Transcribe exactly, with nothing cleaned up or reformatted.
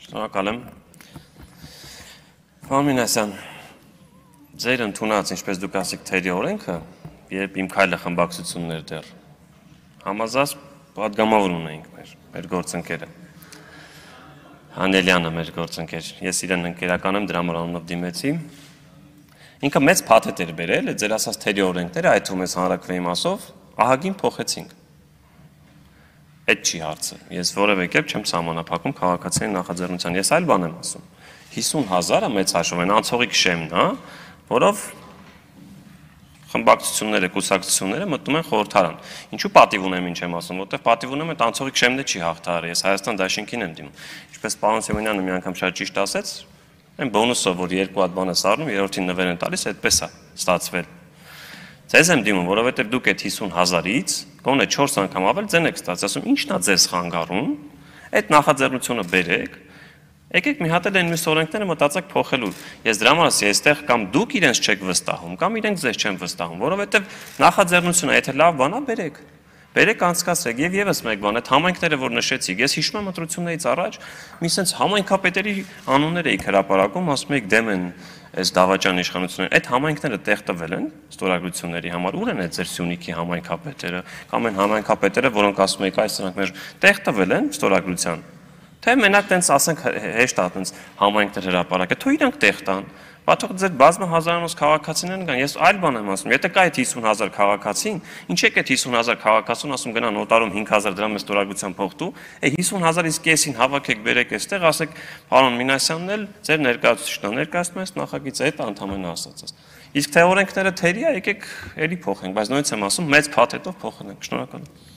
Շնորհակալ եմ։ Պարոն Մինասյան, ձեր ընդունած, ինչպես դուք ասիք, թերի օրենքը, երբ իմ քայլը խմբակցություններ դեռ համազգազ պատգամավոր ունեինք մեր, մեր գործընկերը։ Հանելյանը մեր գործընկեր, ես իրեն ընկերական եմ, դրա համար անունով դիմեցի։ Ինքը մեծ փաթեթ էր բերել, ձեր ասած թերի օրենքները, այդ թվում ես հանրաքվեի մասով, ահագին փոխեցինք։ Այդ չի հարցը։ Ես որևէ կերպ չեմ սահմանափակում քաղաքացիների նախաձեռնության։ Ես այլ բան եմ ասում։ հիսուն հազարը մեծ հաշվով են անցողիկ շեմն, հա, որով խմբակցությունները, կուսակցությունները մտնում են խորհրդարան։ Ինչու պատիվ ունեմ, ինչ եմ ասում, որտեղ պատիվ ունեմ, այդ անցողիկ շեմն չի հաղթահարի։ Ես Հայաստան դաշինքին եմ դիմում։ Ինչպես պարոն Սևոնյանը մի անգամ շատ ճիշտ ասեց, այն բոնուսով, որ երկու հատ բան է սառնում, երրորդին նվեր են տալիս, այդպես է ստացվել։ Ձեզ եմ դիմում, որովհետև դուք այդ հիսուն հազարից գոնե չորս անգամ ավել ձեն եք ստացել, ասում ինչն է ձեզ խանգարում, այդ նախաձեռնությունը բերեք, եկեք մի հատ էլ այն մյուս օրենքները մտածեք փոխելու։ Ես դրա համար ասի, այստեղ կամ դուք իրենց չեք վստահում, կամ իրենք ձեզ չեն վստահում, որովհետև նախաձեռնությունը, եթե լավ բան է, բերեք։ Բերեք անցկացրեք եւ եւս մեկ բան, այդ համայնքները, որ նշեցիք, ես հիշում եմ ընտրություններից առաջ մի sense համայնքապետերի անուններ էիք հրապարակում, ասում եք դեմ են այս դավաճան իշխանությունները, այդ համայնքները տեղ տվել են ստորագրությունների համար, ուր են այդ ձեր Սյունիքի համայնքապետերը, կամ այն համայնքապետերը, որոնք ասում եք այս սրանք մեր տեղ տվել են ստորագրության, թե մենակ տենց ասենք հեշտ է տենց համայնքներ հրապարակը, թող իրանք տեղ տան, բաթող ձեր բազմը հազարանոց քաղաքացիներն կան, ես այլ բան եմ ասում, եթե կա այդ հիսուն հազար քաղաքացին, ինչ եք այդ հիսուն հազար քաղաքացուն ասում գնա նոտարում հինգ հազար դրամ ստորագրության փոխտու, է հիսուն հազարից կեսին հավաքեք բերեք այստեղ, ասեք պարոն Մինասյանն էլ ձեր ներկայացուցիչն է, ներկայացնում ես նախագիծը, այդ անդամեն ասացած։ Իսկ թե օրենքները թերի է, եկեք էլի փոխենք, բայց նույնպես եմ ասում, մեծ փաթեթով փոխենք։ Շնորհակալ եմ։